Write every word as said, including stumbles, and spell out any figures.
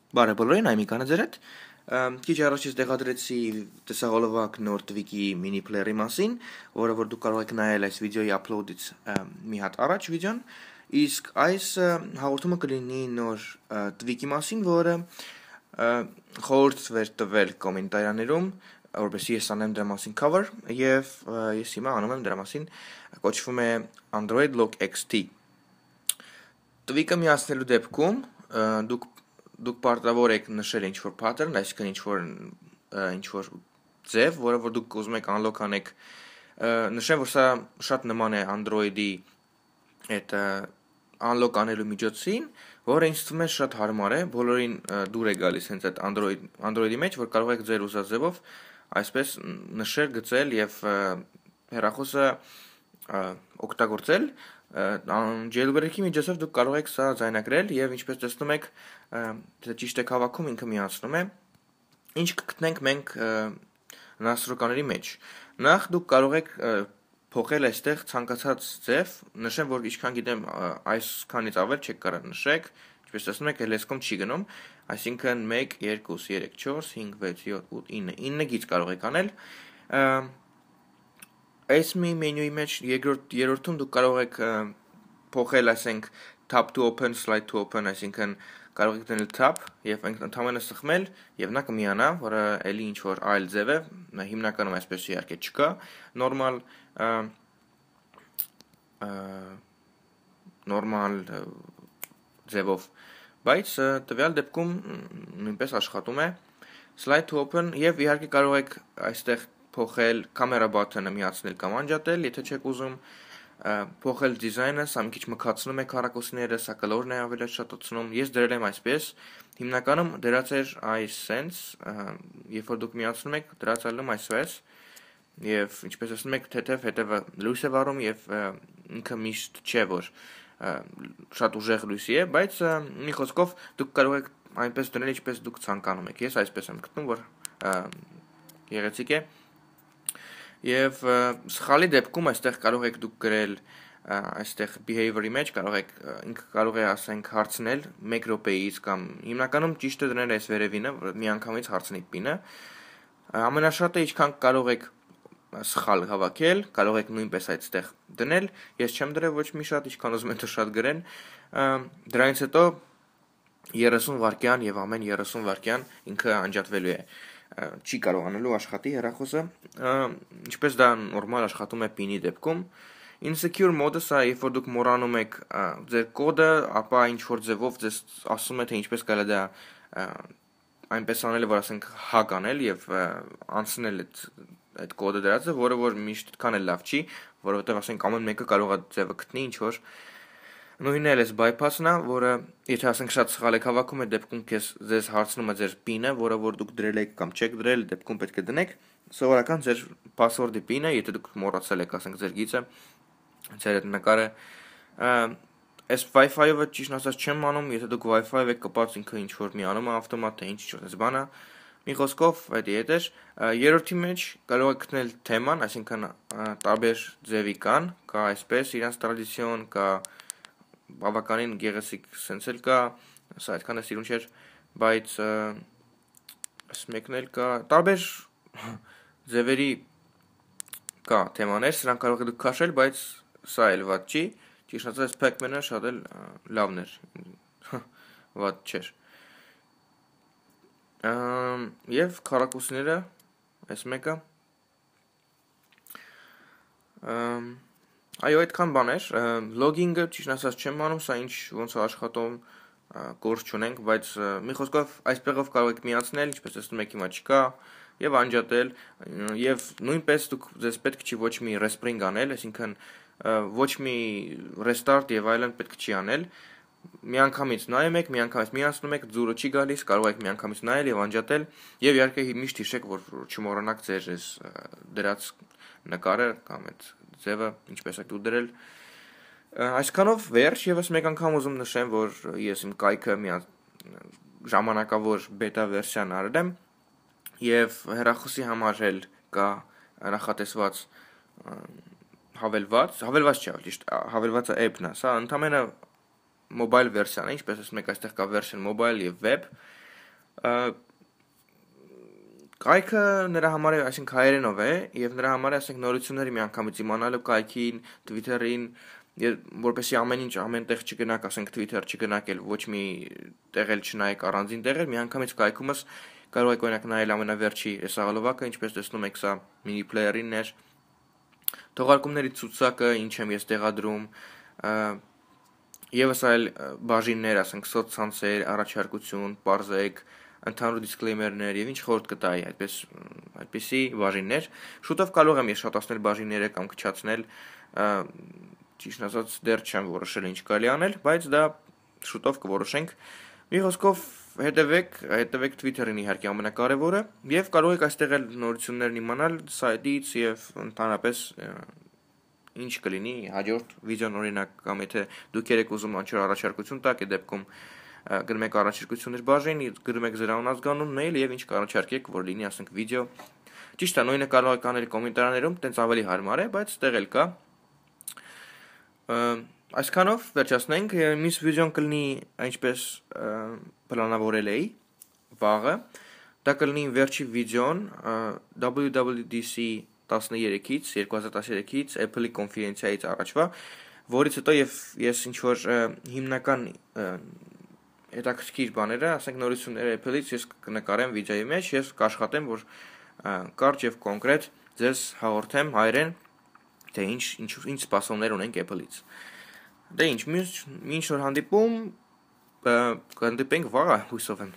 Բարև բոլորին, Այմիկանը ձեր հետ։ Քիչ առաջ ես տեղադրեցի տեսահոլովակ նոր Twig-ի mini player-ի մասին, որը որ դուք կարող եք նայել այս վիդեոյի upload-ից մի հատ առաջ վիդեոն, իսկ այս հաղորդումը կլինի նոր Twig-ի մասին, որը խորհուրդ էր տվել կոմենտարիաներում, որպեսզի ես անեմ դրա մասին cover, եւ ես հիմա անում եմ դրա մասին, կոչվում է Android Lock X T։ Twig-ը միացնելու դեպքում դուք դուք պարտավոր եք նշել ինչ-որ pattern, այսինքն ինչ-որ ինչ-որ ձև, որը որ դուք ուզում եք unlock անեք, նշեմ, որ սա շատ նման է Android-ի այդ unlock անելու միջոցին, որը ինձ թվում է շատ հարմար է, բոլորին դուր է գալիս հենց այդ Android Android-ի մեջ, որ կարող եք ձեր ուզած ձևով այսպես նշել, գծել եւ հեռախոսը օգտագործել jailbreak-ի միջոցով դուք կարող եք սա ձայնագրել եւ ինչպես տեսնում եք, դա ճիշտ է հավաքում, ինքը միացնում է։ Ինչ կգտնենք մենք настройкաների մեջ։ Նախ դուք կարող եք փոխել այստեղ ցանկացած ձև, նշեմ, որ ինչքան գիտեմ, այսքանից ավել չեք կարող նշեք, ինչպես տեսնում եք, լեսկոմ չի գնում, այսինքն մեկ, երկու, երեք, չորս, հինգ, վեց, յոթ, ութ, ինը, ինը գից կարող եք անել։ Այս մի մենյուի մեջ երկրորդ երրորդում դուք կարող եք փոխել, ասենք, tap to open, slide to open, այսինքն կարող եք դնել tap եւ ընդհանրապես սխմել եւ նա կմիանա, որը էլի ինչ որ այլ ձև է, հիմնականում այսպես իհարկե չկա, նորմալ նորմալ ձևով, բայց տվյալ դեպքում նույնպես աշխատում է slide to open եւ իհարկե կարող եք այստեղ փոխել camera button-ը միացնել կամ անջատել, եթե չեք ուզում փոխել դիզայնը, սա մի քիչ մքացնում է քառակուսիները, սա կլորն է ավելի շատացնում։ Ես դրել եմ այսպես, հիմնականում դրած էր այս sense, երբ որ դուք միացնում եք, դրած ալում այսպես, եւ ինչպես ասում եք, թեթև հետևը լույս է վառում եւ ինքը միշտ չէ որ շատ ուժեղ լույսի է, բայց մի խոսքով դուք կարող եք այնպես դնել, ինչպես դուք ցանկանում եք։ Ես այսպես եմ գտնում, որ գեղեցիկ է։ Եվ սխալի դեպքում այստեղ կարող եք դուք գրել այստեղ behavior-ի մեջ կարող եք ինքը կարող է ասենք հարցնել մեկ րոպեից կամ հիմնականում ճիշտ է դնել այս վերևինը, որ միանգամից հարցնի պինը։ Ամենաշատը ինչքան կարող եք սխալ հավաքել, կարող եք նույնպես այդտեղ դնել։ Ես չեմ դրել ոչ մի շատ, ինչքան ուզում եք շատ գրեն։ Դրանից հետո երեսուն վայրկյան եւ ամեն երեսուն վայրկյան ինքը անջատվելու է։ Չի կարողանալու աշխատի հեռախոսը, ինչպես դա նորմալ աշխատում է պինի դեպքում։ Insecure mode-ը սա, երբ որ դուք մոռանում եք ձեր կոդը, ապա ինչ որ ձևով ձեզ ասում է թե ինչպես կարելի դա այնպես անել, որ ասենք hack անել եւ անցնել այդ այդ կոդը դրածը, որը որ միշտ այդքան էլ լավ չի, որովհետեւ ասենք ամեն մեկը կարող է ձևը գտնի ինչ որ նույնն էլ էս bypass-ն է, որը եթե ասենք շատ սխալ եք հավաքում, այդ դեպքում քեզ ձեզ հարցնում է ձեր PIN-ը, որը որ դուք դրել եք կամ չեք դրել, դեպքում պետք է դնեք սովորական ձեր password-ի PIN-ը, եթե դուք մոռացել եք, ասենք ձեր գիծը, ձեր այդ նկարը, այս Wi-Fi-ը ճիշտ ասած չեմ անում, եթե դուք Wi-Fi-ով եք կապած, ինքը ինչ որ մի անում է ավտոմատ, թե ինչ ինչ այս բանը, մի խոսքով այդ ետ էր, երրորդի մեջ կարող եք գտնել թեման, այսինքն տարբեր ձևի կան, կա այսպես իրանց տրադիցիոն, կա բավականին գեղեցիկ սենց էլ կա, սա այդքան է սիրուն չէր, բայց այս մեկն էլ կա, տարբեր ձևերի կա թեմաներ, սրանք կարող եք դուք քաշել, բայց սա էլ վատ չի, ճիշտ ասած Pac-Man-ը շատ էլ լավն էր, վատ չէր։ Եվ քառակուսիները, այս մեկը, այո, այդքան բան էր, լոգինգը ճիշտ ասած չեմ անում, սա ինչ ոնց է աշխատում, գործ չունենք, բայց մի խոսքով այսպեղով կարող եք միացնել, ինչպես տեսնում եք հիմա չկա, եւ անջատել, եւ նույնպես դուք ձեզ պետք չի ոչ մի respring անել, այսինքն ոչ մի restart եւ այլն պետք չի անել, միանգամից նայում եք, միանգամից միացնում եք, ձուրը չի գալիս, կարող եք միանգամից նայել եւ անջատել, եւ իհարկե միշտ հիշեք, որ չմոռանաք ձեր այս դրած նկարը կամ այդ ձևը, ինչպես եք դու դրել։ Այսքանով վերջ եւս մեկ անգամ ուզում նշեմ, որ ես իմ կայքը մի ժամանակավոր բետա վերսիան արել եմ եւ հեռախոսի համար էլ կա նախատեսված հավելված, հավելված չէ, ճիշտ, հավելվածը app-ն է, սա ընդամենը mobile վերսիան է, ինչպես ասում եք, այստեղ կա version mobile եւ web, Կայքը նրա համար է, այսինքն հայերենով է, եւ նրա համար է, ասենք, նորությունների միանգամից իմանալու կայքին, Twitter-ին, որպեսզի ամեն ինչ ամենտեղ չգնաք, ասենք Twitter չգնաք էլ ոչ մի տեղ էլ չնայեք առանձին տեղեր, միանգամից կայքումս կարող եք օրինակ նայել ամենավերջի հեսաղալովակը, ինչպես տեսնում եք, սա mini player-ինն էր, թողարկումների ցուցակը, ինչ եմ ես տեղադրում, եւս այլ բաժիններ, ասենք սոցցանցեր, առաջարկություն, պարզեք, ընդհանուր disclaimer-ներ եւ ինչ խորտ կտայի, այդպես այդպիսի բաժիններ, շուտով կարող եմ ես շատացնել բաժինները կամ քչացնել, ճիշտ ասած դեռ չեմ որոշել ինչ կարելի անել, բայց դա շուտով կորոշենք։ Մի խոսքով հետևեք, հետևեք Twitter-ին իհարկե ամենակարևորը եւ կարող եք այստեղ էլ նորություններն իմանալ սայթից եւ ընդհանրապես ինչ կլինի հաջորդ վիդեոն օրինակ կամ եթե դուք եք ուզում ինչ-որ առաջարկություն տաք, այդ դեպքում գրում եք առաջարկություններ բաժին, գրում եք ձեր անհատականունն էլ եւ ինչ կառաջարկեք, որ լինի, ասենք, վիդեո։ Ճիշտ է, նույնը կարող եք անել կոմենտարներում, տենց ավելի հարմար է, բայց տեղ էլ կա։ Այսքանով վերջացնենք, մյուս վիդեոն կլինի այնպես պլանավորել էի վաղը, դա կլինի վերջի վիդեոն W W D C տասներեքից, երկու հազար տասներեքից Apple-ի կոնֆերենցիայից առաջվա, որից հետո եւ ես ինչ-որ հիմնական հետաքրքիր բաները, ասենք նորությունները Apple-ից ես կնկարեմ վիդեոյի մեջ, ես կաշխատեմ, որ կարճ եւ կոնկրետ ձեզ հաղորդեմ հայերեն, թե ինչ ինչ ինչ սպասումներ ունենք Apple-ից։ Դե ինչ, մինչ որ հանդիպում, կհանդիպենք վաղը, հույսով եմ։